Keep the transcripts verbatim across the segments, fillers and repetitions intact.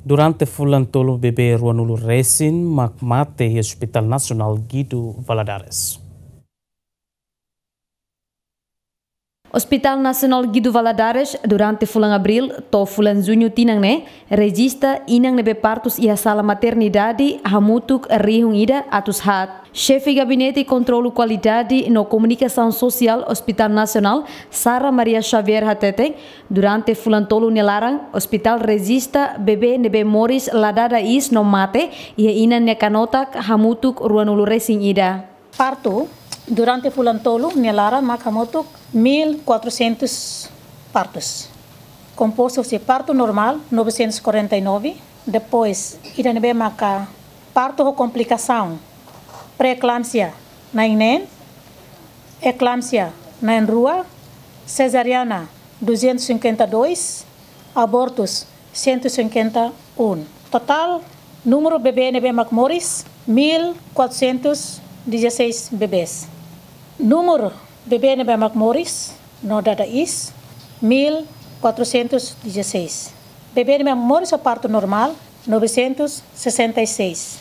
Durante fulan tolu bebé ruanulu resin mak mate iha Hospital Nasionál Guido Valadares. Hospital Nasionál Guido Valadares durante fulan Abríl to'o fulan Juñu tinan ne'e rejista inan ne'ebé partus iha sala maternidade hamutuk rihun ida atus haat. Xefe Gabinete Kontrolu Kualidade no Komunikasaun Sosiál Hospital Nasionál, Sara Maria Xavier hateten, durante fulan tolu nia laran, ospitál rejista bebé ne'ebé moris la dada iis no mate iha inan nia kanotak hamutuk ruanulu resin ida. Partu durante fulan tolu nia laran mak hamutuk mil quatrocentos partus. Kompostu husi partu normál novecentos e quarenta e nove, depois ida ne'ebé maka partu ho komplikasaun, pré-eklâmpsia na'in neen, eklâmpsia na'in rua, sezariana duzentos e cinquenta e dois, abortus cento e cinquenta e um. Totál númeru bebé ne'ebé mak moris mil quatrocentos dezasseis bebés. Númeru bebé ne'ebé mak moris no dada iis mil quatrocentos dezasseis. Bebé ne'ebé moris ho partu normál novecentos sessenta e seis.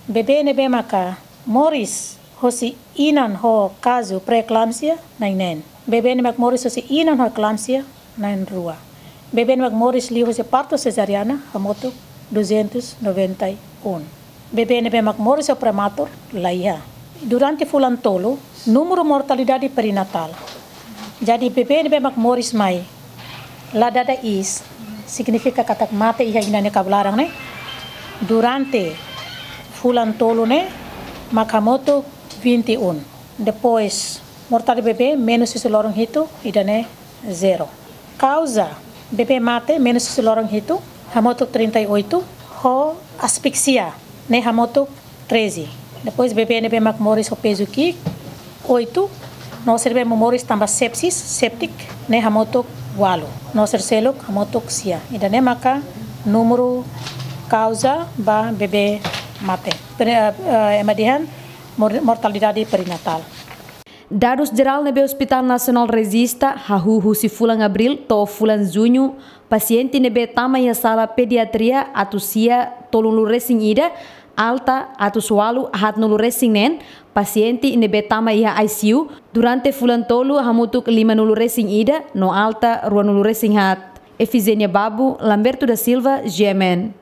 Bebé ne'ebé maka moris hosi inan ho kazu pré-eklâmpsia na'in neen. Bebé ne'ebé mak moris hosi inan ho eklâmpsia na'in rua. Bebé ne'ebé mak moris liu hosi partu sezariana hamutuk duzentos noventa e um. Bebé ne'ebé mak moris ho prematur la iha. Durante fulan tolu, númeru mortalidade perinatál. Jadi bebé ne'ebé mak moris mai la dada iis, signifika katak mate iha inan nia kabun laran ne'e, durante fulan tolu ne'e mak hamutuk vinte e um. Depois, mortalidade bebé menus husi loron hitu, ida-ne'e zero. Kauza bebé mate menus husi loron hitu, hamutuk trinta e oito, ho asfixia ne'e hamutuk treze. Depois bebé ne'ebé mak moris ho pezu ki'ik, oito. No sira ne'ebé moris tanba sepsis, septic, ne'e hamutuk ualu. No sira seluk hamutuk sia. Ida-ne'e maka númeru kauza ba bebé mate. Pre-, eh, eh, ema dehan mor-, mortalidade perinatál. Dadus jerál ne'ebé Hospital Nasionál rejista, hahú husi fulan Abríl to'o fulan Juñu, pasiente ne'ebé tama iha sala pediatria atus sia tolunulu resin ida, alta atus ualu haatnulu resin neen, pasiente ne'ebé tama iha I C U durante fulan tolu hamutuk limanulu resin ida, no alta ruanulu resin haat. Efigenia Babu, Lamberto da Silva, G M N.